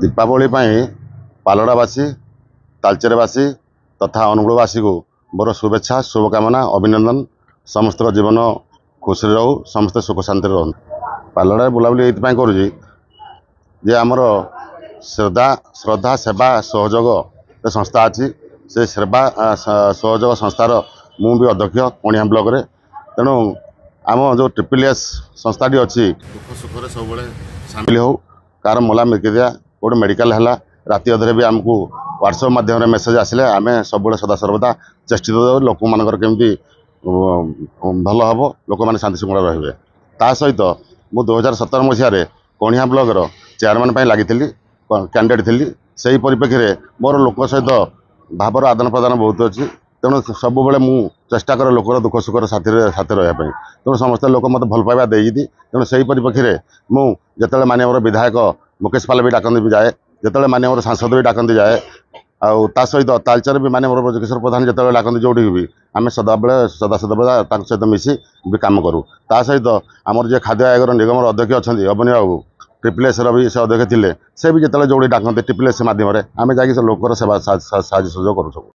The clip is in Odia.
ଦୀପାବଳି ପାଇଁ ପାଲଡ଼ାବାସୀ, ତାଳଚେରବାସୀ ତଥା ଅନୁଗୁଳବାସୀକୁ ମୋର ଶୁଭେଚ୍ଛା, ଶୁଭକାମନା, ଅଭିନନ୍ଦନ। ସମସ୍ତଙ୍କ ଜୀବନ ଖୁସିରେ ରହୁ, ସମସ୍ତେ ସୁଖ ଶାନ୍ତିରେ ରୁହନ୍ତୁ। ପାଲଡ଼ାରେ ବୁଲାବୁଲି ଏଇଥିପାଇଁ କରୁଛି ଯେ ଆମର ଶ୍ରଦ୍ଧା ସେବା ସହଯୋଗ ସଂସ୍ଥା ଅଛି। ସେ ସେବା ସହଯୋଗ ସଂସ୍ଥାର ମୁଁ ବି ଅଧ୍ୟକ୍ଷ କଣିହାଁ ବ୍ଲକରେ। ତେଣୁ ଆମ ଯେଉଁ ଟ୍ରିପଲ୍ ଏସ୍ ସଂସ୍ଥାଟି ଅଛି, ଦୁଃଖ ସୁଖରେ ସବୁବେଳେ ସାମିଲ ହେଉ। କାହାର ମଲା ମିର୍କିଦିଆ, କେଉଁଠି ମେଡ଼ିକାଲ ହେଲା, ରାତି ଅଧରେ ବି ଆମକୁ ହ୍ୱାଟ୍ସଆପ୍ ମାଧ୍ୟମରେ ମେସେଜ୍ ଆସିଲେ ଆମେ ସବୁବେଳେ ସଦାସର୍ବଦା ଚେଷ୍ଟିତ ଦେଉ ଲୋକମାନଙ୍କର କେମିତି ଭଲ ହେବ, ଲୋକମାନେ ଶାନ୍ତି ଶୃଙ୍ଖଳା ରହିବେ। ତା ସହିତ ମୁଁ 2017 ମସିହାରେ କଣିହାଁ ବ୍ଲକର ଚେୟାରମ୍ୟାନ୍ ପାଇଁ ଲାଗିଥିଲି, କ୍ୟାଣ୍ଡିଡେଟ୍ ଥିଲି। ସେହି ପରିପ୍ରେକ୍ଷୀରେ ମୋର ଲୋକଙ୍କ ସହିତ ଭାବର ଆଦାନ ପ୍ରଦାନ ବହୁତ ଅଛି। ତେଣୁ ସବୁବେଳେ ମୁଁ ଚେଷ୍ଟା କରେ ଲୋକର ଦୁଃଖ ସୁଖର ସାଥିରେ ସାଥିରେ ରହିବା ପାଇଁ। ତେଣୁ ସମସ୍ତେ ଲୋକ ମୋତେ ଭଲ ପାଇବା ଦେଇଛନ୍ତି। ତେଣୁ ସେହି ପରିପ୍ରେକ୍ଷୀରେ ମୁଁ ଯେତେବେଳେ ମାନ୍ୟବର ବିଧାୟକ ମୁକେଶ ପାଲ ବି ଡାକନ୍ତି ବି ଯାଏ, ଯେତେବେଳେ ମାନ୍ୟବର ସାଂସଦ ବି ଡାକନ୍ତି ଯାଏ, ଆଉ ତା ସହିତ ତାଳଚେର ବି ମାନ୍ୟବର ବ୍ରଜକିଶୋର ପ୍ରଧାନ ଯେତେବେଳେ ଡାକନ୍ତି ଯେଉଁଠିକି ବି ଆମେ ସଦାବେଳେ ସଦାସର୍ବଦା ତାଙ୍କ ସହିତ ମିଶି ବି କାମ କରୁ। ତା ସହିତ ଆମର ଯିଏ ଖାଦ୍ୟ ଆୟୋଗର ନିଗମର ଅଧ୍ୟକ୍ଷ ଅଛନ୍ତି ଅବନୀ ବାବୁ, ଟ୍ରିପଲ୍ ଏସ୍ର ବି ସେ ଅଧ୍ୟକ୍ଷ ଥିଲେ, ସେ ବି ଯେତେବେଳେ ଯେଉଁଠି ଡାକନ୍ତି ଟ୍ରିପଲ୍ ଏସ୍ ମାଧ୍ୟମରେ ଆମେ ଯାଇକି ସେ ଲୋକର ସେବା ସାହାଯ୍ୟ ସହଯୋଗ କରୁ ସବୁ।